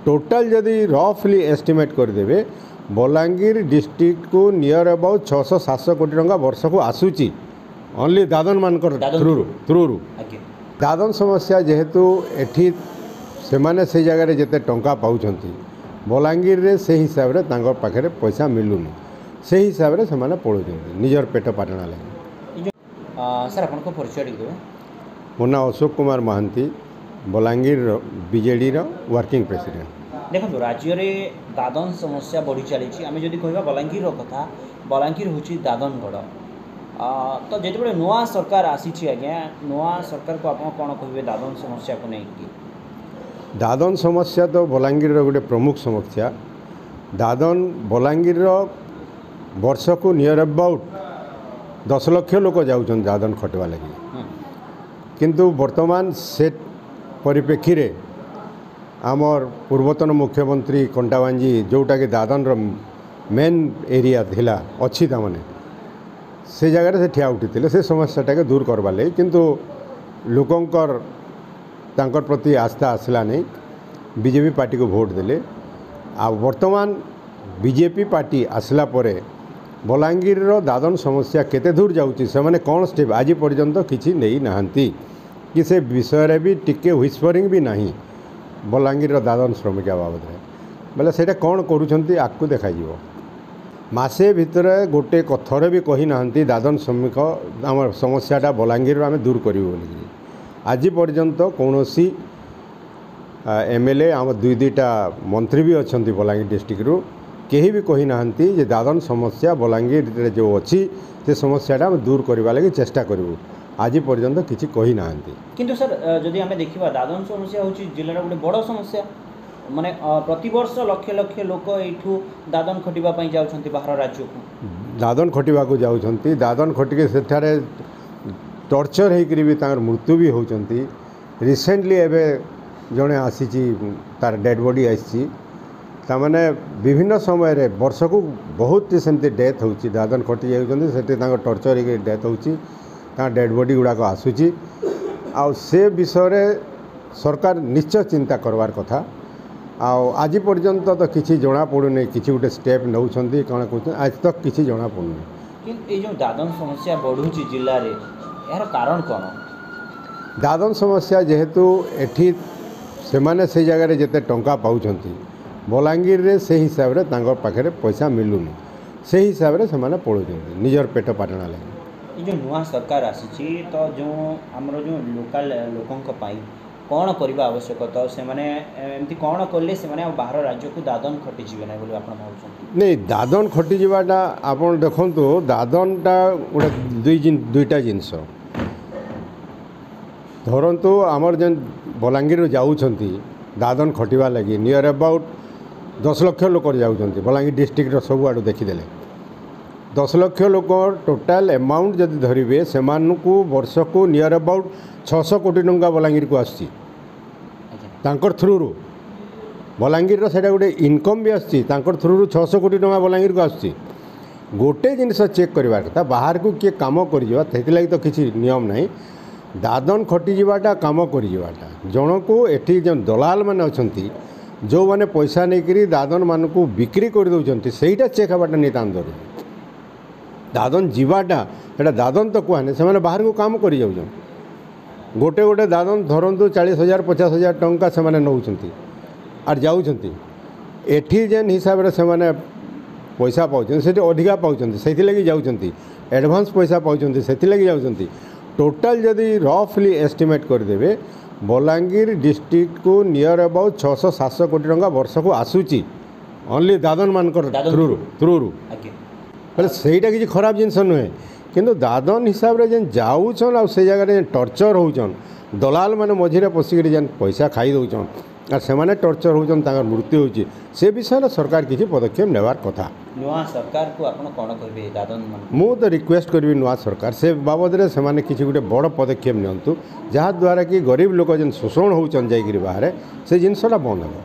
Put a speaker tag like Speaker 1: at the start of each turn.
Speaker 1: Total ଯଦି ରଫଲି estimate କରିଦେବେ, Balangir ଡିଷ୍ଟ୍ରିକ୍ଟକୁ near about 600-700 କୋଟି ଟଙ୍କା ବର୍ଷକୁ ଆସୁଛି ଓନ୍ଲି ଦାଦନମାନଙ୍କର ଥ୍ରୁରୁ। ଦାଦନ ସମସ୍ୟା ଯେହେତୁ ଏଠି ସେମାନେ ସେଇ ଜାଗାରେ ଯେତେ ଟଙ୍କା ପାଉଛନ୍ତି, ବଲାଙ୍ଗୀରରେ ସେଇ ହିସାବରେ ତାଙ୍କ ପାଖରେ ପଇସା ମିଳୁନି। ସେଇ ହିସାବରେ ସେମାନେ ପଳାଉଛନ୍ତି ନିଜର ପେଟ ପାଟଣା ଲାଗି।
Speaker 2: ସାର୍, ଆପଣଙ୍କ ପରିଚୟ ଟିକେ ଦେବେ?
Speaker 1: ମୋ ନାଁ ଅଶୋକ କୁମାର ମହାନ୍ତି, ବଲାଙ୍ଗୀରର ବିଜେଡ଼ିର ୱାର୍କିଂ ପ୍ରେସିଡେଣ୍ଟ।
Speaker 2: ଦେଖନ୍ତୁ, ରାଜ୍ୟରେ ଦାଦନ ସମସ୍ୟା ବଢ଼ି ଚାଲିଛି। ଆମେ ଯଦି କହିବା ବଲାଙ୍ଗୀରର କଥା, ବଲାଙ୍ଗୀର ହେଉଛି ଦାଦନ ଗଡ଼। ତ ଯେତେବେଳେ ନୂଆ ସରକାର ଆସିଛି ଆଜ୍ଞା, ନୂଆ ସରକାରକୁ ଆପଣ କ'ଣ କହିବେ ଦାଦନ ସମସ୍ୟାକୁ ନେଇକି?
Speaker 1: ଦାଦନ ସମସ୍ୟା ତ ବଲାଙ୍ଗୀରର ଗୋଟେ ପ୍ରମୁଖ ସମସ୍ୟା। ଦାଦନ ବଲାଙ୍ଗୀରର ବର୍ଷକୁ ନିୟର ଆବାଉଟ୍ 10 ଲକ୍ଷ ଲୋକ ଯାଉଛନ୍ତି ଦାଦନ ଖଟିବା ଲାଗି। କିନ୍ତୁ ବର୍ତ୍ତମାନ ସେ ପରିପ୍ରେକ୍ଷୀରେ ଆମର ପୂର୍ବତନ ମୁଖ୍ୟମନ୍ତ୍ରୀ କଣ୍ଟାବାଞ୍ଜି, ଯେଉଁଟାକି ଦାଦନର ମେନ୍ ଏରିଆ ଥିଲା, ଅଛି, ତାମାନେ ସେ ଜାଗାରେ ସେ ଠିଆ ଉଠିଥିଲେ ସେ ସମସ୍ୟାଟାକେ ଦୂର କରବାର୍ ଲାଗି। କିନ୍ତୁ ଲୋକଙ୍କର ତାଙ୍କର ପ୍ରତି ଆସ୍ଥା ଆସିଲା ନାହିଁ, ବିଜେପି ପାର୍ଟିକୁ ଭୋଟ ଦେଲେ। ଆଉ ବର୍ତ୍ତମାନ ବିଜେପି ପାର୍ଟି ଆସିଲା ପରେ ବଲାଙ୍ଗୀରର ଦାଦନ ସମସ୍ୟା କେତେ ଦୂର ଯାଉଛି, ସେମାନେ କ'ଣ ଷ୍ଟେପ୍ ଆଜି ପର୍ଯ୍ୟନ୍ତ କିଛି ନେଇନାହାନ୍ତି କି ସେ ବିଷୟରେ ବି ଟିକେ ହ୍ୱିସ୍ପରିଂ ବି ନାହିଁ ବଲାଙ୍ଗୀରର ଦାଦନ ଶ୍ରମିକ ବାବଦରେ। ବୋଲେ ସେଇଟା କ'ଣ କରୁଛନ୍ତି ଆଗକୁ ଦେଖାଯିବ। ମାସେ ଭିତରେ ଗୋଟେ ଥରେ ବି କହିନାହାନ୍ତି ଦାଦନ ଶ୍ରମିକ ଆମର ସମସ୍ୟାଟା ବଲାଙ୍ଗୀରରୁ ଆମେ ଦୂର କରିବୁ ବୋଲିକିରି। ଆଜି ପର୍ଯ୍ୟନ୍ତ କୌଣସି ଏମ୍ ଏଲ୍ ଏ, ଆମ ଦୁଇ ଦୁଇଟା ମନ୍ତ୍ରୀ ବି ଅଛନ୍ତି ବଲାଙ୍ଗୀର ଡିଷ୍ଟ୍ରିକ୍ଟରୁ, କେହି ବି କହିନାହାନ୍ତି ଯେ ଦାଦନ ସମସ୍ୟା ବଲାଙ୍ଗୀରରେ ଯେଉଁ ଅଛି, ସେ ସମସ୍ୟାଟା ଆମେ ଦୂର କରିବା ଲାଗି ଚେଷ୍ଟା କରିବୁ। ଆଜି ପର୍ଯ୍ୟନ୍ତ କିଛି କହିନାହାନ୍ତି।
Speaker 2: କିନ୍ତୁ ସାର୍, ଯଦି ଆମେ ଦେଖିବା, ଦାଦନ ସମସ୍ୟା ହେଉଛି ଜିଲ୍ଲାର ଗୋଟେ ବଡ଼ ସମସ୍ୟା। ମାନେ ପ୍ରତିବର୍ଷ ଲକ୍ଷ ଲକ୍ଷ ଲୋକ ଏଇଠୁ ଦାଦନ ଖଟିବା ପାଇଁ ଯାଉଛନ୍ତି ବାହାର ରାଜ୍ୟକୁ।
Speaker 1: ଦାଦନ ଖଟିବାକୁ ଯାଉଛନ୍ତି। ଦାଦନ ଖଟିକି ସେଠାରେ ଟର୍ଚର୍ ହେଇକରି ବି ତାଙ୍କର ମୃତ୍ୟୁ ବି ହେଉଛନ୍ତି। ରିସେଣ୍ଟଲି ଏବେ ଜଣେ ଆସିଛି, ତାର ଡେଡ଼୍ ବଡ଼ି ଆସିଛି। ତାମାନେ ବିଭିନ୍ନ ସମୟରେ ବର୍ଷକୁ ବହୁତ ସେମିତି ଡେଥ୍ ହେଉଛି। ଦାଦନ ଖଟି ଯାଉଛନ୍ତି, ସେଠି ତାଙ୍କ ଟର୍ଚର୍ ହେଇକି ଡେଥ୍ ହେଉଛି, ତାଙ୍କ ଡେଡ଼୍ ବଡ଼ି ଗୁଡ଼ାକ ଆସୁଛି। ଆଉ ସେ ବିଷୟରେ ସରକାର ନିଶ୍ଚୟ ଚିନ୍ତା କରବାର କଥା। ଆଉ ଆଜି ପର୍ଯ୍ୟନ୍ତ ତ କିଛି ଜଣାପଡ଼ୁନି, କିଛି ଗୋଟେ ଷ୍ଟେପ୍ ନେଉଛନ୍ତି, କ'ଣ କହୁଛନ୍ତି, ଆଜି ତକ୍ କିଛି ଜଣାପଡ଼ୁନି।
Speaker 2: କିନ୍ତୁ ଏଇ ଯେଉଁ ଦାଦନ ସମସ୍ୟା ବଢ଼ୁଛି ଜିଲ୍ଲାରେ, ଏହାର କାରଣ କ'ଣ?
Speaker 1: ଦାଦନ ସମସ୍ୟା ଯେହେତୁ ଏଠି ସେମାନେ ସେଇ ଜାଗାରେ ଯେତେ ଟଙ୍କା ପାଉଛନ୍ତି, ବଲାଙ୍ଗୀରରେ ସେଇ ହିସାବରେ ତାଙ୍କ ପାଖରେ ପଇସା ମିଳୁନି। ସେଇ ହିସାବରେ ସେମାନେ ପଳାଉଛନ୍ତି ନିଜର ପେଟ ପାଟଣା ଲାଗି।
Speaker 2: ଏଇ ଯେଉଁ ନୂଆ ସରକାର ଆସିଛି, ତ ଯେଉଁ ଆମର ଯେଉଁ ଲୋକାଲ ଲୋକଙ୍କ ପାଇଁ କ'ଣ କରିବା ଆବଶ୍ୟକ? ତ ସେମାନେ ଏମିତି କ'ଣ କଲେ ସେମାନେ ଆଉ ବାହାର ରାଜ୍ୟକୁ ଦାଦନ ଖଟିଯିବେ ନାହିଁ ବୋଲି ଆପଣ ଭାବୁଛନ୍ତି?
Speaker 1: ନାଇଁ, ଦାଦନ ଖଟିଯିବାଟା ଆପଣ ଦେଖନ୍ତୁ, ଦାଦନଟା ଗୋଟେ ଦୁଇଟା ଜିନିଷ ଧରନ୍ତୁ। ଆମର ଯେନ୍ ବଲାଙ୍ଗୀରରୁ ଯାଉଛନ୍ତି ଦାଦନ ଖଟିବା ଲାଗି, ନିୟର ଆବାଉଟ୍ 10 ଲକ୍ଷ ଲୋକ ଯାଉଛନ୍ତି ବଲାଙ୍ଗୀର ଡିଷ୍ଟ୍ରିକ୍ଟର। ସବୁଆଡ଼ୁ ଦେଖିଦେଲେ 10 ଲକ୍ଷ ଲୋକ, ଟୋଟାଲ୍ ଆମାଉଣ୍ଟ ଯଦି ଧରିବେ, ସେମାନଙ୍କୁ ବର୍ଷକୁ ନିୟର ଆବାଉଟ୍ 600 କୋଟି ଟଙ୍କା ବଲାଙ୍ଗୀରକୁ ଆସୁଛି ତାଙ୍କର ଥ୍ରୁରୁ। ବଲାଙ୍ଗୀରର ସେଇଟା ଗୋଟେ ଇନକମ୍ ବି ଆସୁଛି ତାଙ୍କର ଥ୍ରୁରୁ, 600 କୋଟି ଟଙ୍କା ବଲାଙ୍ଗୀରକୁ ଆସୁଛି। ଗୋଟେ ଜିନିଷ ଚେକ୍ କରିବାର କଥା, ବାହାରକୁ କିଏ କାମ କରିଯିବା ସେଥିଲାଗି ତ କିଛି ନିୟମ ନାହିଁ। ଦାଦନ ଖଟିଯିବାଟା କାମ କରିଯିବାଟା ଜଣକୁ ଏଠି ଯେଉଁ ଦଲାଲ ମାନେ ଅଛନ୍ତି, ଯେଉଁମାନେ ପଇସା ନେଇକରି ଦାଦନମାନଙ୍କୁ ବିକ୍ରି କରିଦେଉଛନ୍ତି, ସେଇଟା ଚେକ୍ ହେବାଟା ନିତାନ୍ତ ଜରୁରୀ। ଦାଦନ ଯିବାଟା ସେଇଟା ଦାଦନ ତ କୁହାନି, ସେମାନେ ବାହାରକୁ କାମ କରିଯାଉଛନ୍ତି। ଗୋଟେ ଗୋଟେ ଦାଦନ ଧରନ୍ତୁ 40,000 50,000 ଟଙ୍କା ସେମାନେ ନେଉଛନ୍ତି ଆର୍ ଯାଉଛନ୍ତି। ଏଠି ଯେନ୍ ହିସାବରେ ସେମାନେ ପଇସା ପାଉଛନ୍ତି, ସେଠି ଅଧିକା ପାଉଛନ୍ତି, ସେଥିଲାଗି ଯାଉଛନ୍ତି। ଆଡ଼ଭାନ୍ସ ପଇସା ପାଉଛନ୍ତି, ସେଥିଲାଗି ଯାଉଛନ୍ତି। ଟୋଟାଲ୍ ଯଦି ରଫଲି ଏଷ୍ଟିମେଟ୍ କରିଦେବେ, ବଲାଙ୍ଗୀର ଡିଷ୍ଟ୍ରିକ୍ଟକୁ ନିୟର ଆବାଉଟ୍ 600-700 କୋଟି ଟଙ୍କା ବର୍ଷକୁ ଆସୁଛି ଓନ୍ଲି ଦାଦନମାନଙ୍କର ଥ୍ରୁରୁ। ବୋଲେ ସେଇଟା କିଛି ଖରାପ ଜିନିଷ ନୁହେଁ। କିନ୍ତୁ ଦାଦନ ହିସାବରେ ଯେନ୍ ଯାଉଛନ୍ ଆଉ ସେଇ ଜାଗାରେ ଯେନ୍ ଟର୍ଚର୍ ହେଉଛନ୍, ଦଲାଲ ମାନେ ମଝିରେ ପଶିକିରି ଯେନ୍ ପଇସା ଖାଇ ଦେଉଛନ୍ ଆଉ ସେମାନେ ଟର୍ଚର୍ ହେଉଛନ୍, ତାଙ୍କର ମୃତ୍ୟୁ ହେଉଛି, ସେ ବିଷୟରେ ସରକାର କିଛି ପଦକ୍ଷେପ ନେବାର କଥା।
Speaker 2: ନୂଆ ସରକାରକୁ ଆପଣ କ'ଣ କହିବେ ଦାଦନ?
Speaker 1: ମୁଁ ତ ରିକ୍ୱେଷ୍ଟ କରିବି ନୂଆ ସରକାର ସେ ବାବଦରେ ସେମାନେ କିଛି ଗୋଟେ ବଡ଼ ପଦକ୍ଷେପ ନିଅନ୍ତୁ, ଯାହାଦ୍ୱାରା କି ଗରିବ ଲୋକ ଯେନ୍ ଶୋଷଣ ହେଉଛନ୍ ଯାଇକିରି ବାହାରେ, ସେ ଜିନିଷଟା ବନ୍ଦ ହେବ।